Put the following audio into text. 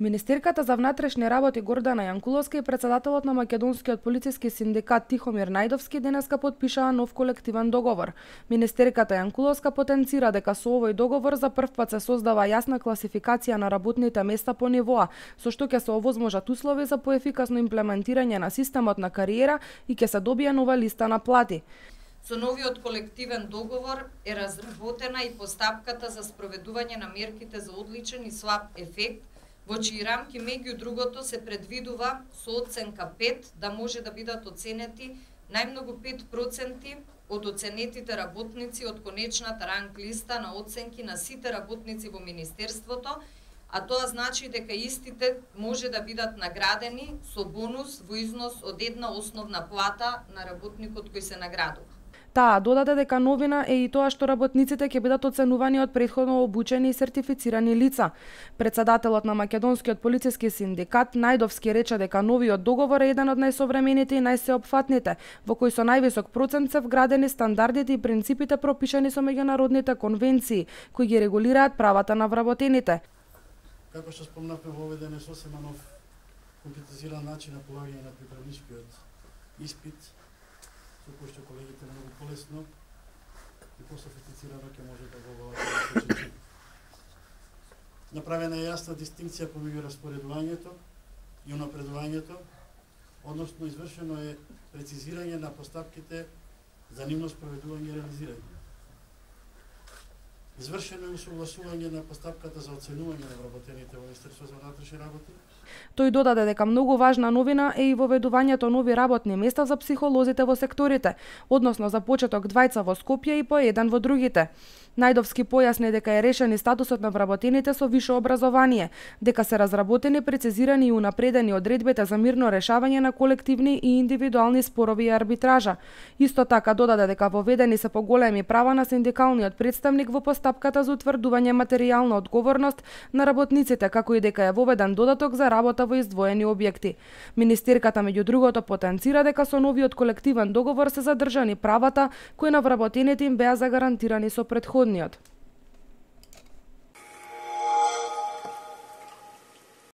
Министерката за внатрешни работи Гордана Јанкуловска и председателот на македонскиот полициски синдикат Тихомир Најдовски денеска потпишаа нов колективен договор. Министерката Јанкуловска потенцира дека со овој договор за прв пат се создава јасна класификација на работните места по нивоа, со што ќе се овозможат услови за поефикасно имплементирање на системот на кариера и ќе се добие нова листа на плати. Со новиот колективен договор е разработена и постапката за спроведување на мерките за одличен и слаб ефект, во чии рамки меѓу другото се предвидува со оценка 5 да може да бидат оценети најмногу 5% од оценетите работници од конечната ранг листа на оценки на сите работници во Министерството, а тоа значи дека истите може да бидат наградени со бонус во износ од една основна плата на работникот кој се наградува. Таа додаде дека новина е и тоа што работниците ќе бидат оценувани од претходно обучени и сертифицирани лица. Председателот на македонскиот полициски синдикат Најдовски рече дека новиот договор е еден од најсовремените и најсеопфатните, во кој со највисок процент се вградени стандардите и принципите пропишани со меѓународните конвенции, кои ги регулираат правата на вработените. Како што спомнавме, воведен е сосема нов компјутеризиран начин на полагање на приправничкиот испит, со кој што колегите многу полесно и пософистицирано ќе може да го обават. Направена е јасна дистинкција помеѓу распоредувањето и унапредувањето, односно извршено е прецизирање на постапките за нивно спроведување и реализирање. Извршено е усогласување на постапката за оценување на вработените во Министерството за внатрешни работи. Тој додаде дека многу важна новина е и воведувањето нови работни места за психолозите во секторите, односно за почеток 2 во Скопје и по 1 во другите. Најдовски појасни дека е решен и статусот на вработените со висше образование, дека се разработени, прецизирани и унапредени одредбите за мирно решавање на колективни и индивидуални спорови и арбитража. Исто така додаде дека воведени се поголеми права на синдикалниот представник во постапката за утврдување материјална одговорност на работниците, како и дека е воведен додаток за работа во издвоени објекти. Министерката меѓу другото потенцира дека со новиот колективен договор се задржани правата кои на вработените им беа загарантирани со претходниот.